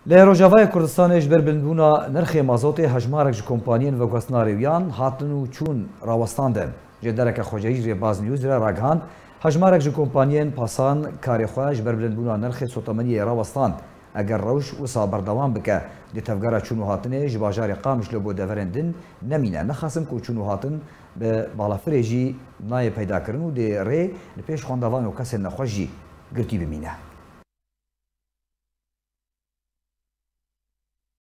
Li Rojavayê Kurdistanê ji ber bilindbûna nirxê mazotê hejmarek ji kompaniyên veguhestina rêwiyan hatin û çûn rawestandin. Jêdereke xwecehî ji Rêbaz News re ragihand, hejmarek ji kompaniyên pasan karê xwe ji ber bilindbûna nirxê sotemeniyê rawestand. Eger rewş wisa berdewam bike dê tevgera çûn û hatinê ji bajarê Qamişlo bo deverên din nemîne. Nexasim ku çûn û hatin bi balafirê jî nayê peydakirin û dê rê li pêş xwendevan û kesên nexweş jî girtî bimîne.